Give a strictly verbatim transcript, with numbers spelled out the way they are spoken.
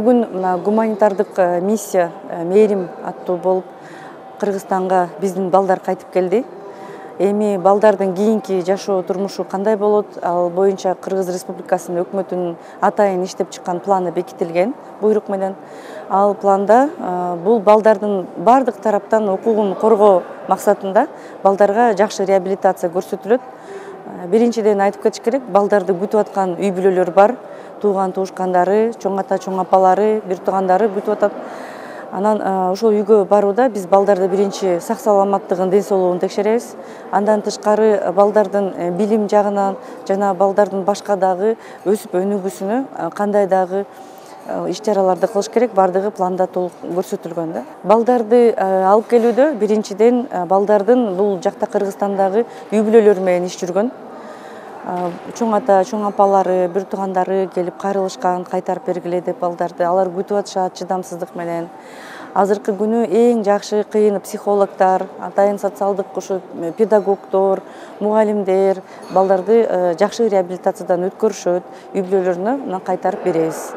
Бүгүн мына гуманитардык миссия Мээрим аттуу болуп Кыргызстанга биздин балдар кайтып келди. Эми балдардын кийинки жашоо турмушу кандай болот? Ал боюнча Кыргыз Республикасынын өкмөтүнүн атайын иштеп чыккан планы бекитилген буйрук менен. Ал планда бул балдардын бардык тараптан укугун коргоо максатында балдарга жакшы реабилитация көрсөтүлөт. Биринчиден айтып кетиш керек, балдарды күтүп аткан үй бүлөлөр бар. Тууган туушкандары, чоң ата, чоң апалары, бир туугандары күтүп атат. Анан ошол үйгө барууда биз балдарды биринчи сак саламаттыгын, ден соолугун текшеребиз. Андан тышкары балдардын билим жагынан жана балдардын башка дагы өсүп өнүгүүсүнө кандай дагы иш-чараларды кылыш керек, бардыгы планда толук көрсөтүлгөн да. Балдарды алып келүүдө биринчиден балдардын бул жакта Кыргызстандагы үй бүлөлөрү менен иш жүргөн. Чоң ата, чоң апалары, бир туугандары келип кайрылышкан, кайтарып бергиле деп балдарды. Алар күтүп атышат чыдамсыздык менен. Азыркы күнү эң жакшы кыйын психологдор, атайын социалдык ушу педагогдор, мугалимдер балдарды жакшы реабилитациядан өткөрүшөт, үй бүлөлөрүнө кайтарып беребиз.